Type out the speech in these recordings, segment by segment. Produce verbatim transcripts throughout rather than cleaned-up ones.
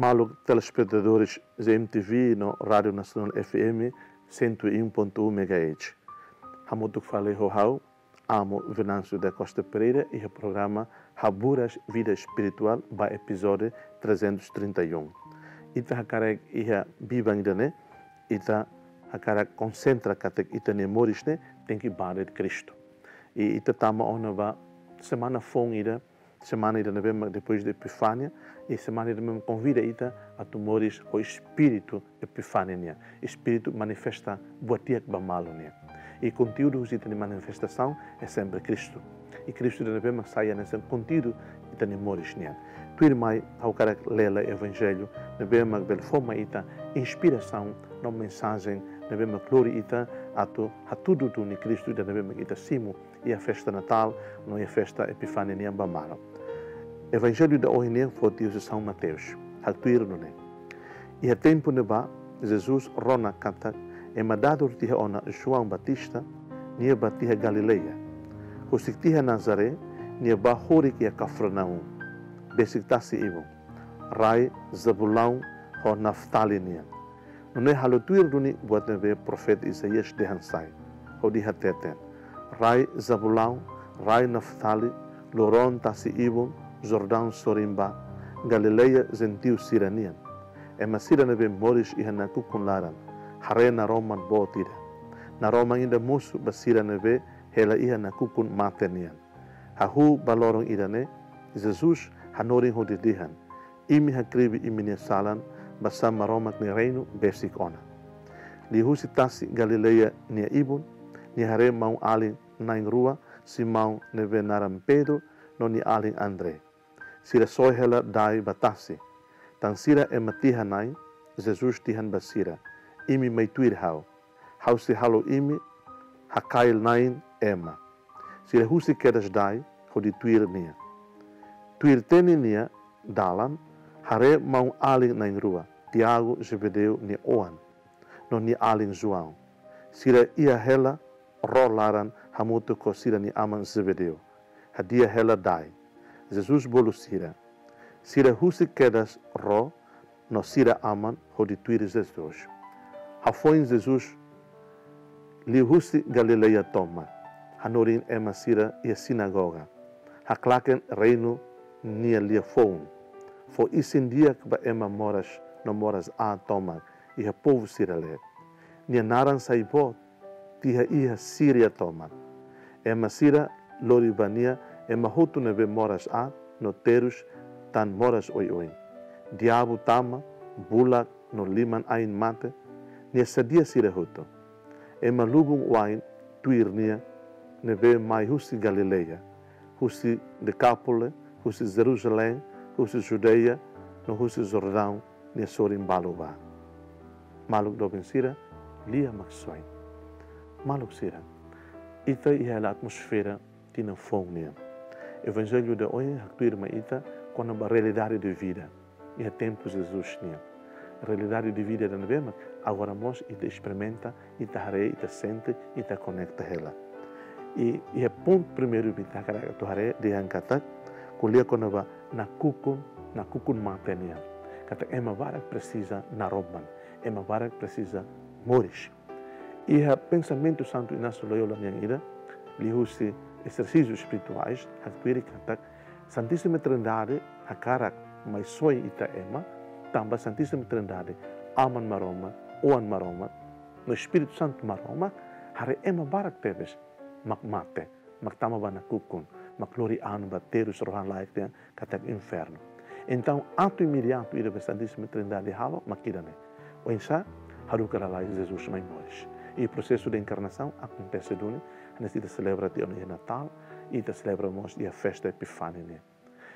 Maluk telespetadores Z M T V no Rádio Nasionál F M cento e um ponto um megahertz. Hamutuk fali ho ha'u, Amo Venâncio da Costa Pereira, iha programa Haburas Vida Espiritual ba episódio trezentos e trinta e um. Ita hakarak iha biban ida-ne'e, ita hakarak konsentra katak ita-nia moris ne'e tenke ba de'it Kristu. I ita tama ona ba semana foun ida, semana ida ne'ebé mak depois de Epifania, i semana ida ne'ebé mak konvida ita atu moris ho espíritu Epifania nian, espíritu manifesta buat di'ak ba malu nian. I konteúdu husi ita-nia manifestasaun é sempre Kristu. I Kristu ida ne'ebé mak sai hanesan konteúdu ita-nia moris nian. Tuirmai, ha'u hakarak lee lai Evanjellu ne'ebé mak bele fó mai ita inspirasaun no mensajen ne'ebé mak lori ita atu hatudu duni Kristu ida ne'ebé mak ita simu iha festa Natál no iha festa Epifania nian ba malu. Evanjellu ida ohin nian foti husi São Mateus, haktuir nune'e: Iha tempu ne'ebá, Jesus rona katak ema dadur tiha ona João Batista, nia bá tiha Galileia. Husik tiha Nazaré, nia bá horik iha Kafarnaum, besik tasi-ibun, rai Zabulão ho Naftali nian. Nune'e halo tuir duni buat ne'ebé profeta Isaías dehan sai, hodi hateten: Rai Zabulão, rai Naftali, loroloron tasi-ibun, Jordaun sorin bá, Galileia jentiu sira-nian. Ema sira ne'ebé moris iha nakukun laran, haree naroman boot ida. Naroman ida mosu ba sira ne'ebé hela iha nakukun mate nian. Hahú ba loron ida-ne'e, Jesus hanorin hodi dehan: Imi hakribi imi-nia salan, basá Maromak nia reinu besik ona. Liuhusi tasi Galileia nia ibun, nia haree maun-alin na'in-rua, Simão ne'ebé naran Pedro, no nia alin André. Sira soe hela dai ba tasi. Tan sira ema tiha na'in, Jesus dehan ba sira: Imi mai tuir ha'u. Ha'u sei halo imi hakail na'in ema. Sira husik kedas dai hodi tuir nia. Tuir teni nia dalan, haree maun-alin na'in-rua, Tiago, Zebedeu nia oan, no nia alin João. Sira iha hela ró laran hamutuk ho sira-nia aman Zebedeu, hadi'a hela dai. Jesus bolu sira. Sira husik kedas ró no sira aman hodi tuir Jesus. Hafoin Jesus liu husi Galileia tomak, hanorin ema sira iha sinagoga, haklaken reinu nia liafuan, fó isin di'ak ba ema moras no moras-aat tomak iha povu sira-leet. Nia naran sai boot tiha iha Síria tomak. Ema sira lori ba nia ema hotu ne'ebé moras-aat no terus tan moras oioin, diabu tama, bulak no liman-ain mate, nia sadia sira hotu. Ema lubun-wa'in tuir nia ne'ebé mai husi Galileia, husi Dekápole, husi Jerusalém, husi Judeia, no husi Jordaun nia sorin balu bá. Maluk doben sira, lia Maksoin. Maluk sira, ita iha hela atmosfera tinan foun nian. Evanjellu ida ohin haktuir mai ita kona-ba realidade de vida iha tempu Jesus nian. Realidade de vida ida ne'ebé mak agora mós ita esperimenta, ita haree, ita sente, ita konekta hela. I, iha pontu primeiru mak ita hakarak atu haree dehan katak, ko'alia kona-ba nakukun, nakukun mate nian. Katak ema barak presiza naroman, ema barak presiza moris. Iha pensamentu Santu Inácio Loyola nian ida, liuhusi ezersísius espirituais, haktuir katak Santíssima Trindade hakarak mai soe ita ema, tanba Santíssima Trindade, Aman Maromak, Oan Maromak, no Espíritu Santu Maromak, haree ema barak tebes mak mate, mak tama ba nakukun, mak lori an ba terus rohan-laek nian katak infernu. Entaun, atu imediatu ida be Santíssima Trindade halo mak ida-ne'e. Oinsá? Haruka lalais Jesus mai moris. I prosesu de enkarnasaun akontese duni, hanesan ita selebra tiha ona iha Natál, ita selebra mós iha festa Epifania nian.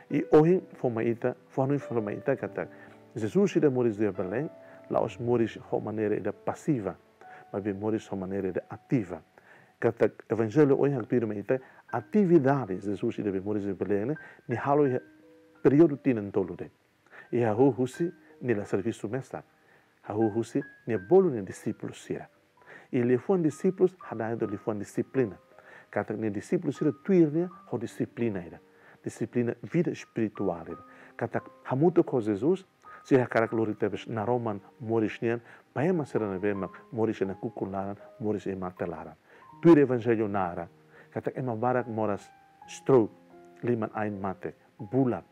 I ohin fó mai ita, fó hanoin fó mai ita katak Jesus ida moris iha Belém, la'ós moris ho maneira ida pasiva, maibé moris ho maneira ida ativa. Katak Evanjellu ohin haktuir mai ita, atividade Jesus ida be moris iha Belém ne'e, nia halo iha períodu tinan tolu de'it. I hahú husi nia la servisu mesak, hahú husi nia bolu nia dixípulu sira. I liafuan dixípulus hadain liafuan dixiplina. Katak nia dixípulu sira tuir nia ho dixiplina ida, dixiplina vida espirituál ida. Katak hamutuk ho Jesus, Sira hakarak lori tebes naroman moris nian ba ema sira ne'ebé mak moris iha nakukun laran, moris iha mate laran. Tuir Evanjellu narra katak ema barak moras stroke, liman-ain mate, bulak.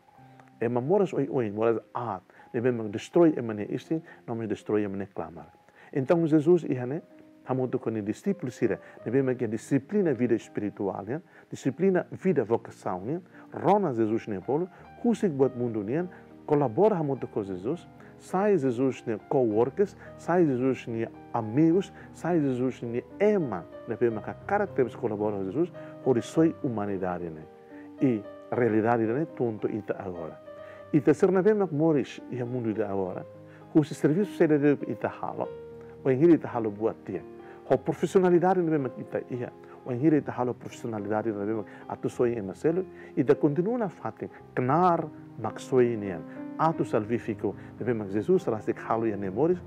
Ema moras oioin, moras aat, ne'ebé mak destrói ema nia isin, no mós destrói ema nia klamar. Entaun Jesus iha ne'e hamutuk ho nia dixípulu sira ne'ebé mak iha dixiplina vida espirituál nian, dixiplina vida vokasaun nian, rona Jesus nia bolu, husik buat mundu nian, kolabora hamutuk ho Jesus, sai Jesus nia coworkers, sai Jesus nia amigos, sai Jesus nia ema ne'ebé mak hakarak tebes kolabora ho Jesus, hodi soi umanidade ne'e. I realidade ne'e tontu ita agora. Ita sira ne'ebé mak moris iha mundu ida agora, husi servisu saida de'it ita halo, wainhira ita halo buat di'ak, ho profisionalidade ne'ebé mak ita iha, wainhira ita halo profisionalidade ne'ebé mak atu soi ema seluk, ita kontinua nafatin knaar Maksoin nian, atu salvífiku ne'ebé mak Jesus rasik halo iha nia moris,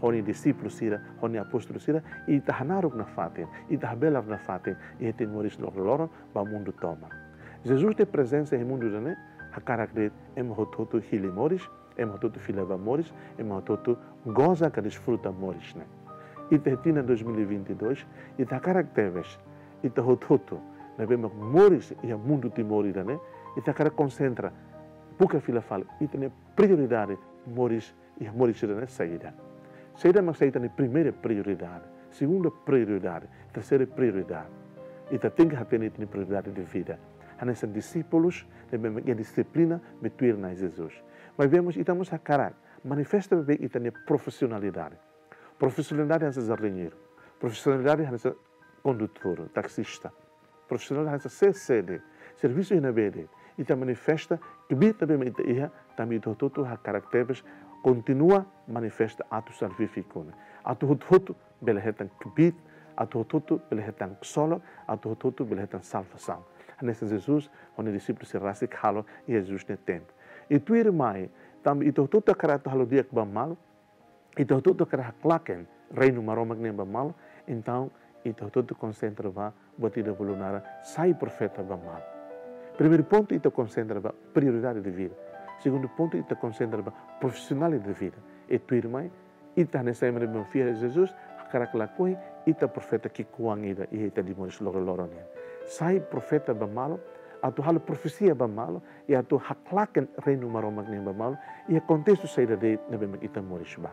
ho nia dixípulu sira, ho nia apóstolu sira, ita hanaruk nafatin, ita habelar nafatin iha ita-nia moris loroloron ba mundu tomak. Jesus nia prezensa iha mundu ida-ne'e hakarak de'it ema hotu-hotu hili moris, ema hotu-hotu fila ba moris, ema hotu-hotu goza ka desfruta moris ne'e. Iha tinan dois mil e vinte e dois, ita hakarak tebes, ita hotu-hotu ne'ebé mak moris iha mundu Timor ida-ne'e, ita hakarak konsentra, buka fila fali ita-nia prioridade moris iha moris ida-ne'e saida. Saida mak sai ita-nia primeira prioridade, segunda prioridade, terseira prioridade. Ita tenke hatene ita-nia prioridade de vida. Hanesan dixípulus ne'ebé mak iha dixiplina be tuir Na'i Jesus. Maibé mós ita mós hakarak manifesta beibeik ita-nia profisionalidade. Profisionalidade hanesan jardineiru. Profisionalidade hanesan kondutór, taxista. Profisionál hanesan sé de'it, servisu iha ne'ebé de'it, ita manifesta kbiit ne'ebé mak ita iha, tanba ita hotu-hotu hakarak tebes kontinua manifesta atu salvífiku ne'e. Atu hotu-hotu bele hetan kbiit, atu hotu-hotu bele hetan ksolok, atu hotu-hotu bele hetan salvasaun. Hanesan Jesus ho nia dixípulu sira rasik halo iha Jesus nia tempu. I tuirmai, tanba ita hotu-hotu hakarak atu halo di'ak ba malu, ita hotu-hotu hakarak haklaken Reinu Maromak nian ba malu, entaun ita hotu-hotu konsentra ba buat ida bolu naran sai profeta ba malu. Primeiru pontu, ita konsentra ba prioridade de vida. Segundu pontu, ita konsentra ba profisionál de vida. I tuirmai, ita hanesan ema ne'ebé fiar Jesus, hakarak lakohi ita profeta ki'ikoan ida iha ita-nia moris loroloron nian. Sai profeta ba malu, atu halo profesia ba malu, i atu haklaken Reinu Maromak nian ba malu, iha kontestu saida de'it ne'ebé mak ita moris ba.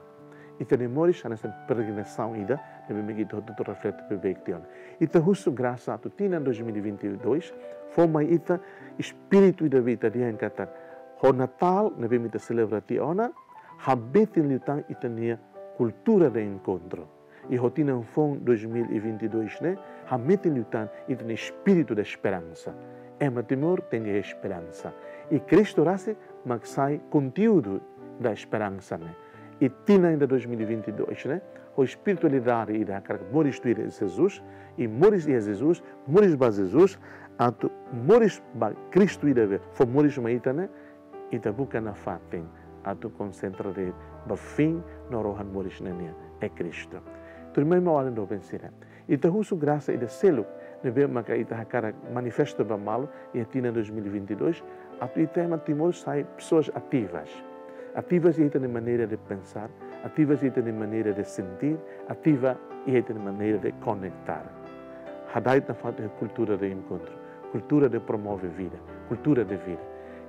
Ita-nia moris hanesan peregrinasaun ida ne'ebé mak ita hotu-hotu reflete beibeik tiha ona. Ita husu grasa atu tinan dois mil e vinte e dois fó mai ita espíritu ida be ita dehan katak, ho Natál ne'ebé mak ita selebra tiha ona, hametin liután ita-nia cultura de encontro. I ho tinan foun dois mil e vinte e dois ne'e, hametin liután ita-nia espíritu da esperança. Ema Timor tenke iha esperansa. I Kristu rasik mak sai konteúdu da esperansa ne'e. I tinan ida dois mil e vinte e dois ne'e, ho espiritualidade ida hakarak moris tuir Jesus, i moris iha Jesus, moris ba Jesus, atu moris ba Kristu ida be fó moris mai ita ne'e, ita buka nafatin atu konsentra de'it ba fin no rohan moris ne'e nian, é Kristu. Tuirmai, maun-alin doben sira, ita husu grasa ida seluk ne'ebé maka ita hakarak manifesta ba malu iha tinan dois mil e vinte e dois, atu ita ema Timor sai pessoas ativas. Ativas iha ita-nia maneira de pensar, ativas iha ita-nia maneira de sentir, ativa iha ita-nia maneira de conectar. Hada'et nafatin iha cultura de encontro, cultura de promove vida, cultura de vida.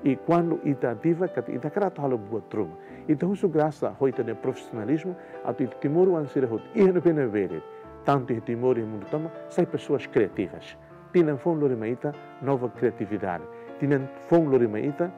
I kuandu ita ativa, katak ita hakarak atu halo buat ruma, ita husu grasa ho ita-nia profisionalizmu, atu ita timoroan sira hotu iha ne'ebé-ne'ebé de'it, tantu iha Timor, iha mundu tomak, sai pessoas criativas. Tinan foun lori mai ita nova criatividade. Tinan foun lori mai ita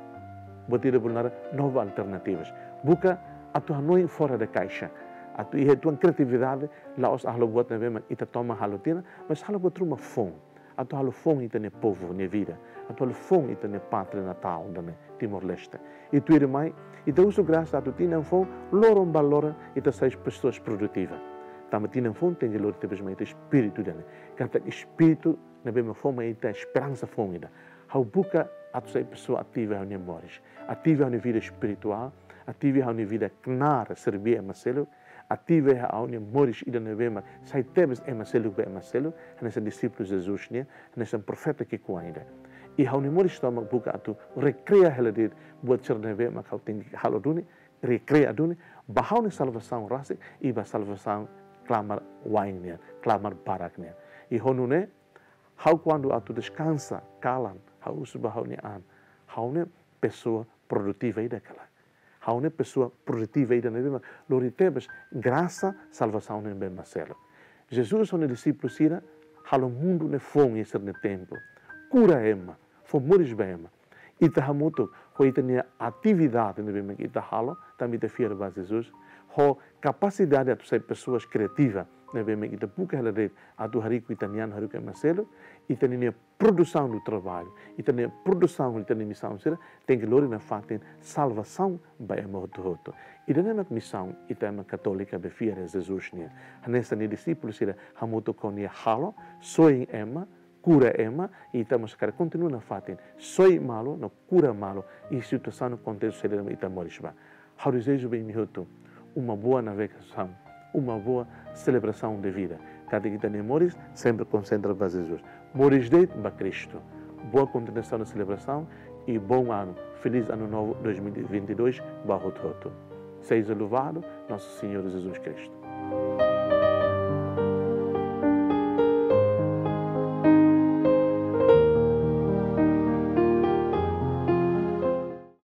buat ida bolu naran nova alternativas. Buka atu hanoin fora da caixa. Atu iha ita-nia criatividade, la'ós halo buat ne'ebé mak ita toman halo tiha ona, mas halo buat ruma foun. Atu halo foun ita-nia povu nia vida. Atu halo foun ita-nia pátria natal ida-ne'e, Timor-Leste. I tuirmai, ita husu grasa atu tinan foun, loron ba loron, ita sai pessoas produtivas. Tanba tinan foun tenke lori tebes mai ita espíritu ida-ne'e. Katak espíritu ne'ebé mak fó mai ita esperansa foun ida. Ha'u buka atu sai pessoa ativa iha ha'u-nia moris, ativa iha ha'u-nia vida espirituál, ativa iha ha'u-nia vida knaar serví ema seluk, ativa iha ha'u-nia moris ida ne'ebé mak sai tebes ema seluk ba ema seluk, hanesan dixípulu Jesus nian, hanesan profeta ki'ikoan ida. I ha'u-nia moris tomak buka atu rekrea hela de'it buat sira ne'ebé mak ha'u tenke halo duni, rekreia duni ba ha'u-nia salvasaun rasik i ba salvasaun klamar wa'in nian, klamar barak nian. I ho nune'e, ha'u kuandu atu deskansa, kalan, ha'u husu ba ha'u-nia an, ha'u ne'e pesoa produtiva ida ka lae? Ha'u ne'e pesoa produtiva ida ne'ebé mak lori tebes grasa salvasaun ne'ebé mak selu. Jesus ho nia dixípulu sira halo mundu ne'e foun iha sira-nia tempu. Kura ema, fó moris ba ema. Ita hamutuk ho ita-nia atividade ne'ebé mak ita halo, tanba ita fiar ba Jesus. Ho kapasidade atu sai pesoas kriativa ne'ebé mak ita buka hela de'it atu hariku ita-nia an, hariku ema seluk, ita-nia produsaun do traballu, ita-nia produsaun, ita-nia misaun sira tenke lori nafatin salvasaun ba ema hotu-hotu. Ida-ne'e mak misaun ita ema katólika be fiar Jesus nian. Hanesan nia dixípulu sira hamutuk ho nia halo, soin ema, kura ema, ita mós hakarak kontinua nafatin soin malu no kura malu iha situasaun no kontestu saida mak ita moris ba. Ha'u dezeja ba imi hotu uma boa navegasaun, uma boa celebração de vida. Katak ita-nia moris sempre konsentra ba Jesus. Moris de'it ba Kristu. Boa continuação da celebração e bom ano. Feliz Ano Novo dois mil e vinte e dois ba hotu-hotu. Seja louvado nosso Senhor Jesus Cristo.